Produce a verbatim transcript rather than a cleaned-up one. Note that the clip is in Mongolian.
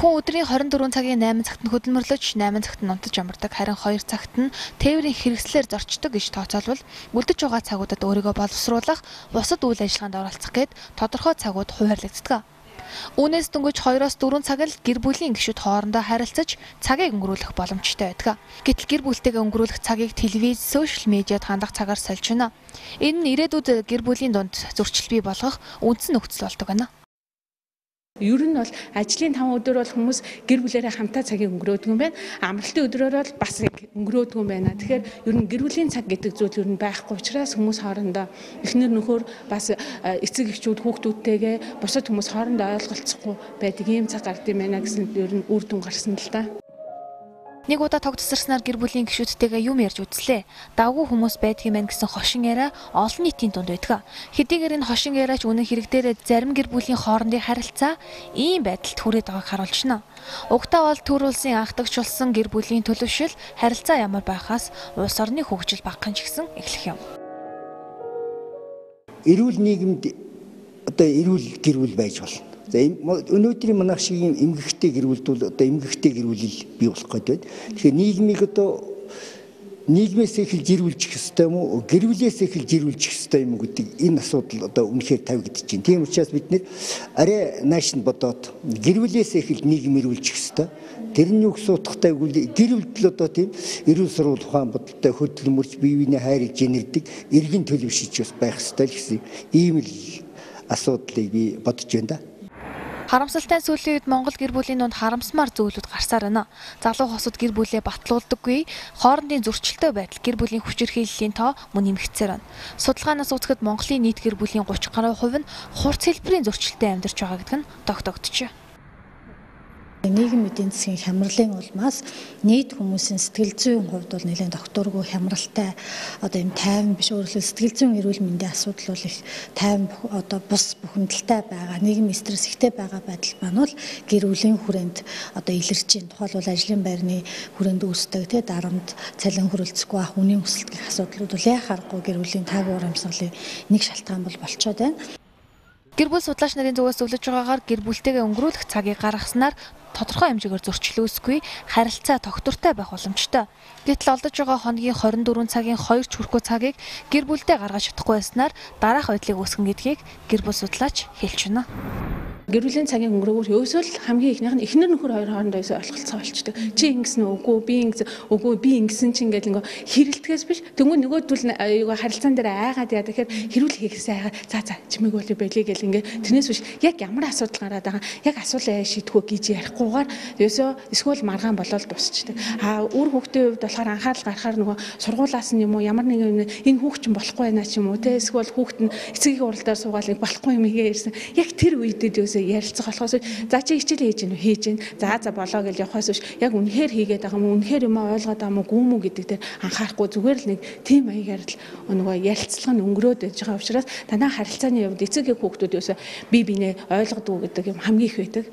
Хүн өдрийн хорин дөрвөн цагийн найман цагт нь хөдөлмөрлөж, найман цагт нь унтаж амардаг, харин хоёр цагт нь тээврийн хэрэгслээр зорчдог гэж тооцоолвол үлдэж байгаа цагуудад өөрийгөө боловсруулах, бусад үйл ажиллагаанд оролцох гээд тодорхой цагууд хуваарлагддаг. Үүнээс дөнгөж хоёроос дөрвөн цаг л гэр бүлийн гишүүд хоорондоо харилцаж цагийг өнгөрүүлэх боломжтой байдаг. Гэтэл гэр бүлтэйгээ өнгөрүүлэх цагийг телевиз, сошиал медиад хандах цагаар сольж байна. Энэ нь ирээдүйд гэр бүлийн дунд зөрчил бий болгох үндсэн нөхцөл болдог байна. Ер нь бол ажлын таван өдөр бол хүмүүс гэр бүлээрээ хамтаа цагийг өнгөрөөдөг юм байна. Амралтын өдрөөр бол бас өнгөрөөдөг юм байна. Тэгэхээр ер нь гэр бүлийн цаг гэдэг зүйл ер нь байхгүй учраас хүмүүс хоорондоо эхнэр нөхөр бас эцэг эхчүүд хүүхдүүдтэйгээ бусад хүмүүс хоорондоо ойлголцохгүй байдаг ийм цаг гардаг юм байна гэсэн ер нь үр дүн гарсан л да. Нэг удаа тог тасарснаар гэр бүлийн гишүүдтэйгээ юм ярьж үзлээ. Давгүй хүмүүс байдаг юм байна гэсэн хошин яриа олон нийтийн дунд байдаг. Хэдийгээр энэ хошин яриач үнэн хэрэгдээрээ зарим гэр бүлийн хоорондын харилцаа ийм байдалд хүрээд байгааг харуулж байна. Угтаа бол төр улсын анхдагчлсан гэр бүлийн төлөвшил харилцаа ямар байхаас улс орны хөгжил багахан ч гэсэн эхлэх юм. Эрүүл нийгэмд одоо эрүүл гэр бүл байж болно. За өнөөдрийн манайх шиг юм эмгэгтэй гэрүүлд бол одоо эмгэгтэй гэрүүлэл бий болох гэдэг. Тэгэхээр нийгмийг одоо нийгмээс эхэлж гэрүүлчих ёстой юм уу? Гэрүүлээс эхэлж гэрүүлчих ёстой юм уу гэдэг энэ асуудал одоо үнэхээр тавигдчих чинь. Тийм учраас бид нэр арай нааш нь бодоод гэрүүлээс эхэлж нийгэм эрүүлчих ёстой. Тэрний үг суутахтай гэрүүлдэл одоо тийм эрүүл сурвал ухаан бодолтой хөдөлмөрч бие биенээ хайрлж инэрдэг эргэн төлөвшиж бас байх ёстой л гэсэн ийм л асуудлыг би бодож байна да. Харамсалтай сүүлийн үед Монгол гэр бүлийн дунд харамсмаар зүйлүүд гарсаар байна. Залуу хосод гэр бүлээ батлуулдаггүй, хоорондын зөрчилтэй байдал гэр бүлийн хүчирхийллийн тоо мөн нэмэгдсээр байна. Судалгаанаас үзэхэд Монголын нийт гэр бүлийн гурван гаруй хувь нь хурц хэлбэрийн зөрчилтэй амьдарч байгаа гэдэг нь тогтогдчихэ. Нийгэм эдийн засгийн хямралын улмаас нийт хүмүүсийн сэтгэл зүйн хувьд бол нэлээд докторгүй хямралтай одоо юм тайван биш өөрөлдөл сэтгэл зүйн эрүүл мэндийн асуудал бол их тайван одоо бус бухимдалтай байгаа нийгмийн стресс ихтэй байгаа байдал маань бол гэр бүлийн хүрээнд одоо илэрч байна. Тухайлбал ажлын байрны хүрээнд үүсдэг те дарамт цалин хөрөлцөхгүй ах үнийн өсөлт гэх асуудлууд бол яхаарахгүй гэр бүлийн таагүй урамсгалын нэг шалтгаан бол болчиход байна. Гэр бүл судлаач нарын зүгээс зөвлөж байгаагаар гэр бүлтэйгээ өнгөрүүлэх цагийг гаргаснаар тодорхой хэмжээгээр зөрчил үүсэхгүй харилцаа тогтвортой байх боломжтой. Гэтэл олдож байгаа хоногийн хорин дөрвөн цагийн хоёр ч хүрэхгүй цагийг гэр бүлдээ гаргаж чадахгүй байснаар дараах байдлыг үүсгэн гэдгийг гэр бүл судлаач хэлж байна. Гэр бүлийн цагийн өнгөрөөгөр ерөөсөө л хамгийн ихнийх нь эхнэр нөхөр хоёр хоорондоо ерөөсөө ойлголцоо болчдөг. Чи ингэсэн үгүй би ингэсэн үгүй би ингэсэн чинь ингээл ингээ хэрэлтгээс биш. Тэнгүү нөгөөдөл аюугаа харилцаан дээр айгаад яа тэгэхээр хэрүүл хийхээсээ айгаа за за чимээг бол байлээ гэл ингээ тэрнээс биш яг ямар асуудал гараад байгаа яг асуулаа шийдэхүү гэж ярихгүйгээр ерөөсөө эсвэл маргаан болоод дуусчдаг. А үр хүүхдийн хувьд болохоор анхаарал гаргахаар нөгөө сургуулаас нь юм уу ямар нэг энэ хүүхд чинь болохгүй байна ч юм уу те эсвэл хүүхд нь эцгийн уралдаар суугаал болохгүй юм игээ ирсэн. Яг тэр үедээ ерөөсөө ярилцах болохоос за чи хичээл хийж гэнэ хийж гэн за за болоо гэж явахаас биш яг үнэхээр хийгээд байгаа юм үнэхээр юм ойлгоод байгаа юм гүм үү гэдэг дээр анхаарахгүй зүгээр л нэг тийм маягаар л нөгөө ярилцлага нь өнгөрөөд байж байгаа учраас танаа харилцааны хувьд эцэг хүүхдүүд ерөөсөө бие биенээ ойлгодог гэдэг юм хамгийн их байдаг.